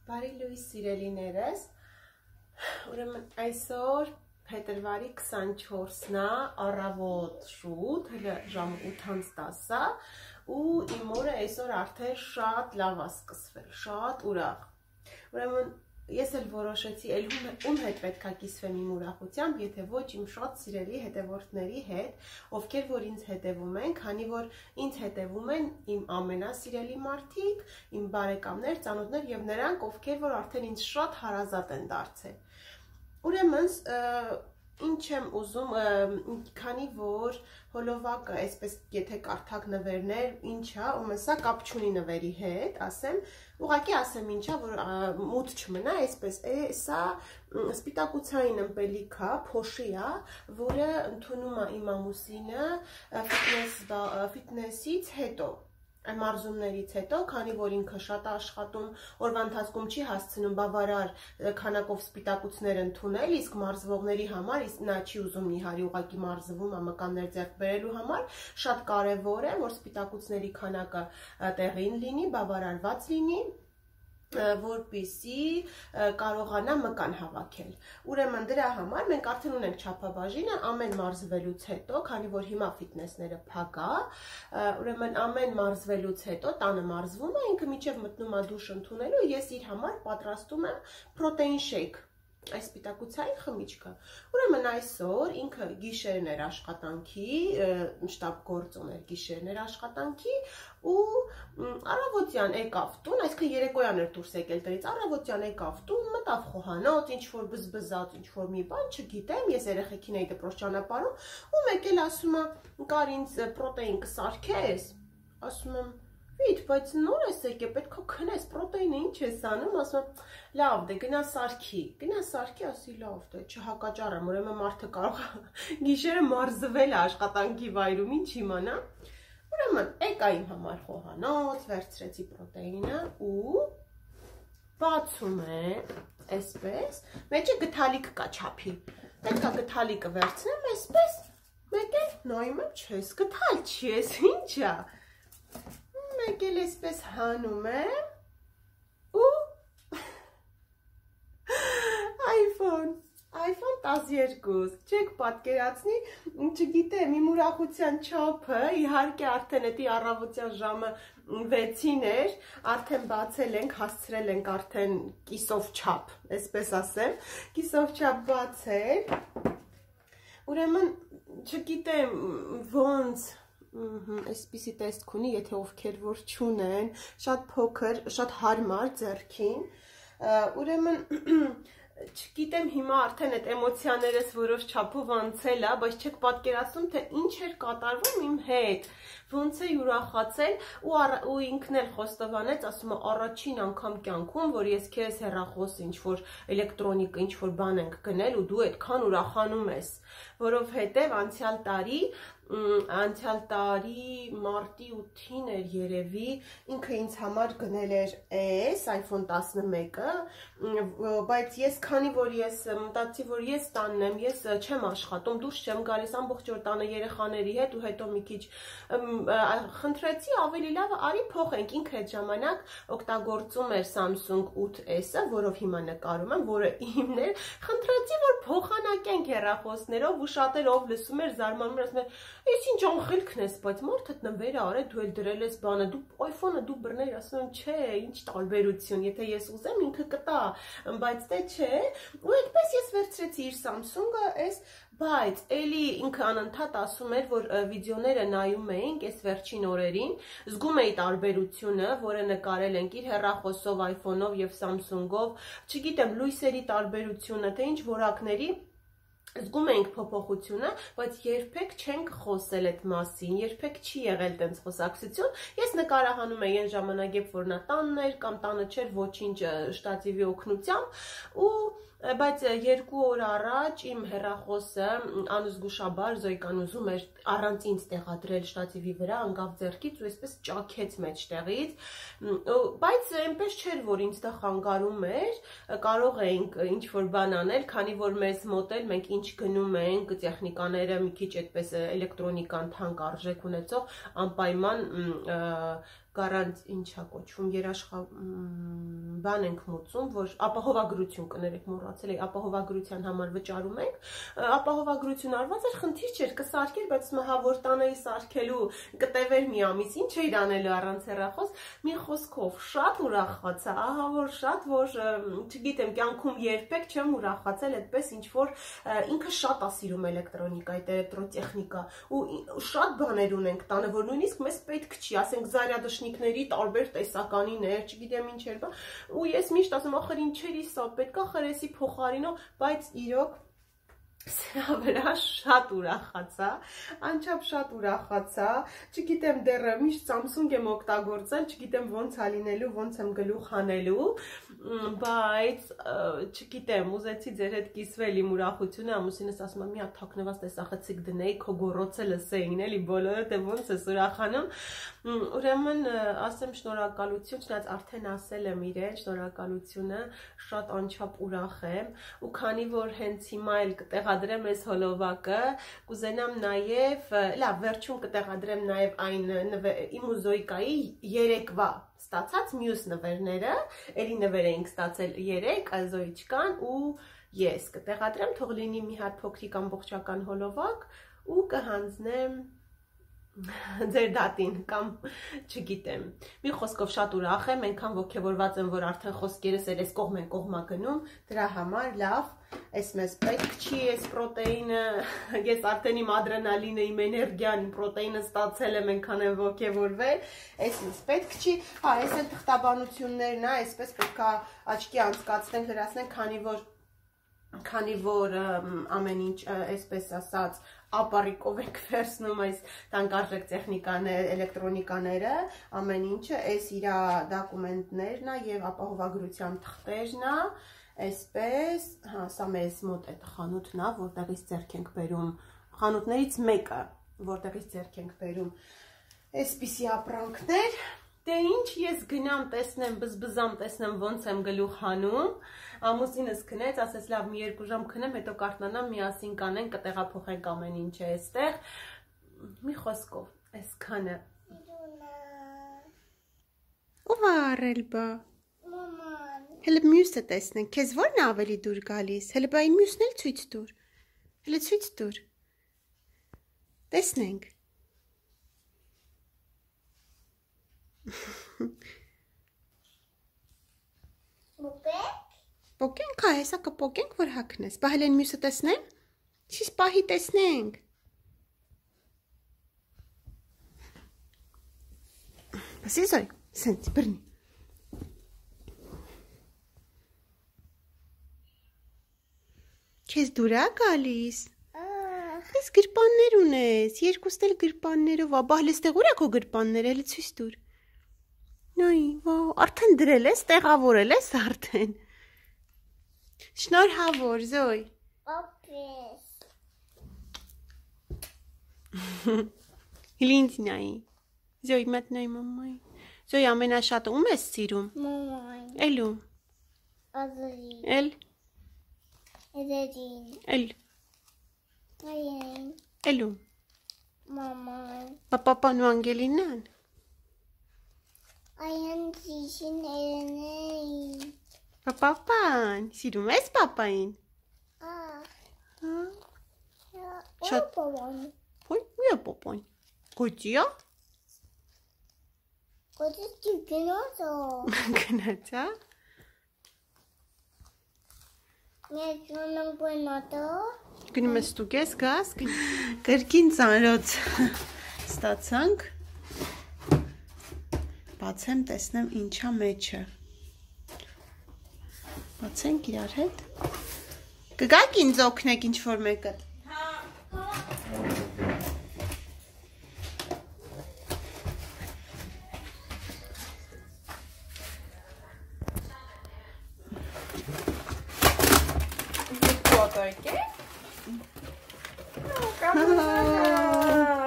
Բարի լույս սիրելիներս, ուրեմն այսօր փետրվարի 24-ն է, առավոտ շուտ, հələ ժամը 8:10-ա ու իմ օրը այսօր արդեն շատ լավ է սկսվել, շատ ուրախ։ Ուրեմն ես էլ որոշեցի, ում հետ պետք է կիսվեմ իմ ուրախությամբ, եթե ոչ իմ շատ սիրելի հետևորդների հետ, ովքեր որ ինձ հետևում են, քանի որ ինձ հետևում են իմ ամենասիրելի մարդիկ, իմ բարեկամներ, ծանոթներ եւ նրանք, ովքեր որ արդեն ինձ շատ հարազատ են դարձել։ Ուրեմն ինչ եմ ուզում, քանի որ հոլովակը, այսպես եթե կարդակ նվերներ, ինչա, ում սա կապ չունի նվերի հետ, ասեմ, ուղղակի ասեմ ինչա, որ մութ չմնա, այսպես, սա սպիտակուցային ըմպելիք է, փոշի է, որը ընդունում է իմ ամուսինը ֆիթնեսից հետո, մարզումներից հետո, քանի որ ինքը շատ աշխատում, օրվա ընթացքում չի հասցնում բավարար քանակով սպիտակուցներ ընդունել, իսկ մարզվողների համար, իսկ նա չի ուզում նիհարի ուղղակի մարզվում ամականներ ձեռք բերելու համար, շատ կարևոր է, որ սպիտակուցների քանակը տեղին լինի, բավարարված լինի, որպեսզի կարողանա մկան հավաքել։ Ուրեմն դրա համար մենք արդեն ունենք չափաբաժինը ամեն մարզվելուց հետո, քանի որ հիմա ֆիթնեսները փակ է, ուրեմն ամեն մարզվելուց հետո տանը մարզվում է, ինքը մինչև մտնում է դուշ ընդունելու, ես իր համար պատրաստում եմ պրոտեին շեյք, այս սպիտակուցային խմիչքը։ Ուրեմն այսօր ինքը գիշերն էր աշխատանքի, շտապ գործոն էր գիշերն էր աշխատանքի ու առավոտյան եկավ տուն, այսինքն երեկոյան էր դուրս եկել տրից, առավոտյան եկավ տուն, մտավ խոհանոց, ինչ որ բզբզած, ինչ որ մի բան, չգիտեմ, ես երեխեքին էի դպրոց ճանապարհում, ու մեկ էլ ասում է, կար ինձ պրոտեին կսարքես, ասում եմ Վիթ, բայց նոր ես եկել, պետք է քնես, պրոտեինը ինչ ես անում, ասում եմ, լավ դե գնա սարքի, ասի լավ դե, չհակաճառեմ, ուրեմն մարդը կարող է գիշերը մարզվել աշխատանքի վայրում, ինչ իմանա, ուրեմն եկա իմ համար խոհանոց, վերցրեցի պրոտեինը ու բացում եմ, այսպես, մեջը գթալիք կա չափի, պետք է գթալիկը վերցնեմ, այսպես, մեկ էլ նայում եմ, չես գթալ, չի ես, ինչ է, մեկ էլ այսպես հանում եմ ու iPhone 12, չեք պատկերացնի, չգիտեմ, իմ ուրախության չափը, իհարկե արդեն էդի առավոտյան ժամը 6-ին էր, արդեն բացել ենք, հասցրել ենք արդեն կիսով չափ, այսպես ասեմ, կիսով չափ բացել, ուրեմն չգիտեմ ոնց, այսպիսի տեսք ունի, եթե ովքեր որ չունեն, շատ փոքր, շատ հարմար ձեռքին, ուրեմն չգիտեմ հիմա արդեն այդ էմոցիաներս որոշ չափով անցել է, բայց չեք պատկերացնում, թե ինչ էր կատարվում իմ հետ, ոնց է ուրախացել ու ինքն էլ խոստովանեց, ասում է առաջին անգամ կյանքում, որ ես քեզ հեռախոս ինչ-որ էլեկտրոնիկ, ինչ-որ բան ենք գնել ու դու այդքան ուրախանում ես, որովհետև անցյալ տարի մարտի 8-ին էր երևի, ինքը ինձ համար գնել էր iPhone 11-ը, բայց ես քանի որ ես մտածի, որ ես տանն եմ, ես չեմ աշխատում, դուրս չեմ գալիս ամբողջ օր տանը երեխաների հետ ու հետո մի քիչ խնդրեցի ավելի լավ արի փոխենք, ինքը այդ ժամանակ օգտագործում էր Samsung 8S-ը, որով հիմա նկարում եմ, որը իմն էր, խնդրեցի, որ փոխանակենք հեռախոսներով ու շատերով լսում էր, զարմանում էր, ասում էր, ես ինչ անխելքն ես, բայց մարդդ նվեր արել, դու էլ դրել ես բանը, դու iPhone-ը դու բռներ, ասում եմ, չէ, ինչ տարբերություն, եթե ես ուզեմ, ինքը կտա, բայց դե չէ, ու այդպես ես վերցրեցի իր Samsung-ը, բայց էլի ինքը անընդհատ ասում էր, որ վիդեոները նայում էինք այս վերջին օրերին, զգում էի տարբերությունը, որը նկարել ենք իր հեռախոսով, iPhone-ով եւ Samsung-ով, չգիտեմ, լույսերի տարբերությունը, թե ինչ որակների զգում էինք փոփոխությունը, բայց երբեք չենք խոսել այդ մասին, երբեք չի եղել տենց խոսակցություն, ես նկարահանում էի այն ժամանակ, երբ որ նա տանն էր կամ տանը չէր ոչինչ շտատիվի օգնությամբ ու բայց 2 օր առաջ իմ հեռախոսը անզգուշաբար Զոյկան ուզում էր առանց ինձ տեղադրել շտատիվի վրա, անկավ ձեռքից ու այսպես ճաքեց մեջտեղից, բայց այնպես չէր, որ ինձ դա խանգարում էր, կարող էինք ինչ-որ բան անել, քանի որ մեզ մոտ էլ մենք ինչ գնում ենք, տեխնիկաները մի քիչ այդպես էլեկտրոնիկան թանկ արժեք ունեցող անպայման գարանտ ինչա կոչվում բան ենք մուծում, որ ապահովագրություն կներեք մոռացել էի, ապահովագրության համար վճարում ենք, ապահովագրություն արված էր, խնդիր չէր, կսարքեր, բայց մահա որ տանեի սարքելու կտևեր մի ամիս, ինչ էիր անելու առանց հեռախոս, մի խոսքով շատ ուրախացա, ահա որ շատ, որ չգիտեմ, կյանքում երբեք չեմ ուրախացել այդպես ինչ որ ինքը շատ է սիրում էլեկտրոնիկա, այդ էլեկտրոտեխնիկա ու շատ բաներ ունենք տանը, որ նույնիսկ մեզ պետք չի, ասենք զարյադշնիկների տարբեր տեսականիներ, չգիտեմ ինչեր, բա ու ես միշտ ասում ախր ինչերի սա պետքա խրեսի փոխարինող, բայց իրոք սրա վրա շատ ուրախացա, անչափ շատ ուրախացա, չգիտեմ դեռ միշտ Samsung եմ օգտագործել, չգիտեմ ոնց է լինելու, ոնց եմ գլուխ հանելու, բայց չգիտեմ, ուզեցի ձեր հետ կիսվել իմ ուրախությունը, ամուսինս ասում է մի հատ թաքնված տեսախցիկ դնեի, քո գոռոցը լսեին, էլի բոլորը թե ոնց ես ուրախանում, ուրեմն ասեմ շնորհակալություն, չնայած արդեն ասել եմ իրեն, շնորհակալությունը, շատ անչափ ուրախ եմ, ու քանի որ հենց հիմա էլ կտեղադրեմ այս հոլովակը, կուզենամ նաև, լավ, վերջում կտեղադրեմ նաև այն իմ ու Զոյկայի երեկվա ստացած մյուս նվերները, էլի նվեր էինք ստացել 3, Զոյիչկան ու ես կտեղադրեմ, թող լինի մի հատ փոքրիկ ամբողջական հոլովակ ու կհանձնեմ ձեր դատին կամ չգիտեմ, մի խոսքով շատ ուրախ եմ, այնքան ոգևորված եմ, որ արդեն խոսքերս էլ այս կողմ են կողմա գնում, դրա համար լավ, այս մեզ պետք չի, այս պրոտեինը, ես արդեն իմ ադրենալինը, իմ էներգիան, իմ պրոտեինը ստացել եմ, այնքան եմ ոգևորվել, այս մեզ պետք չի, հա, այս էլ թղթաբանություններն է, այսպես պետք է աչքի անցկացնենք, լրացնենք, քանի որ ամեն ինչ, այսպես ասած, ապարիկով ենք վերցնում այս տանկարժեք տեխնիկաներ, էլեկտրոնիկաները, ամեն ինչը, այս իր դոկումենտներն է եւ ապահովագրության թղթերն է, այսպես, հա, սա մեզ մոտ այդ խանութն է, որտեղից ձեռք ենք բերում, խանութներից մեկը, որտեղից ձեռք ենք բերում, այսպիսի ապրանքներ, դե ինչ ես գնամ տեսնեմ, բզբզամ տեսնեմ ոնց եմ գլուխ հանում, ամուսինս քնեց, ասես լավ մի 2 ժամ քնեմ, հետո կարթնանամ միասին կանենք, կտեղափոխենք ամեն ինչը այստեղ, մի խոսքով, այսքանը։ Ով արել բա։ Մաման։ Հələ մյուսը տեսնենք, քեզ ո՞րն է ավելի դուր գալիս, հələ բա այն մյուսն էլ ցույց տուր։ Հələ ցույց տուր։ Տեսնենք։ Պոկենք, հա, հեսա կպոկենք, որ հակնես, բա հել են մյուսը տեսնեմ, չիս պահի տեսնենք, բասի զոյ, սենց, բրնի, քեզ դուր է գալիս, ես գրպաններ ունես, երկուստ էլ գրպաններով, բա հել ստեղ ուր է քո գրպանները, հել ցույց տուր, նոյ, արդեն դրել ես, տեղավորել ես արդեն, շնորհավոր, Զոյ։ Օպես։ Հիլինց նայի։ Զոյ մատնայի մամայի։ Զոյ ամենաշատը ում ես սիրում։ Մամային։ Էլու։ Ազրին։ Էլ։ Էդերին։ Էլ։ Այեն։ Էլու։ Մամային։ Պապապան ու Անգելինան։ Այեն զիշին էրենեին։ Պապապան, սիրում ես պապային։ Շատ պապան։ Ոյ, ու է պապան։ Գոճի է։ Գոճի գնաց է։ Գնաց է։ Մենք գնում գնատը։ Գնում ես ստուգես, գաս։ Կրկին ծանրոց ստացանք։ Բացեմ, տեսնեմ ինչա մեջը։ Բացենք իրար հետ։ Կգաք ինձ օգնեք ինչ-որ մեկը։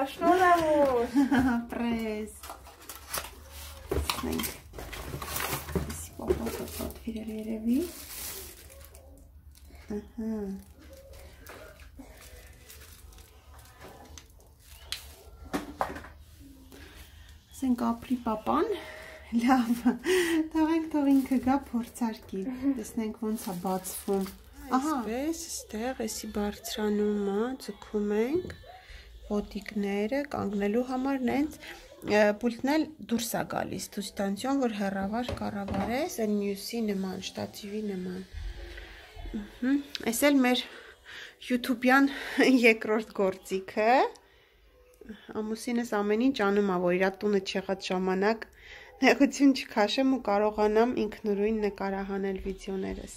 Շնորհավոր։ Պրես։ Մենք Սի պապա իրել երևի։ Ասենք ապրի պապան, Լավ, թող ինքը գա փորձարկի, տեսնենք ոնց է բացվում։ Այսպես, այստեղ էսի բարձրանում է, ձգում ենք ոտիկները կանգնելու համար նենց պուլտն էլ դուրս է գալիս, ցույց տանցիոն, որ հեռավար կառավարես, այն մյուսի նման, շտատիվի նման։ Այս էլ մեր YouTube-յան երկրորդ գործիքը։ Ամուսինս ամեն ինչ անում է, որ իր տունը չեղած ժամանակ նեղություն չքաշեմ ու կարողանամ ինքնուրույն նկարահանել վիդեոներս։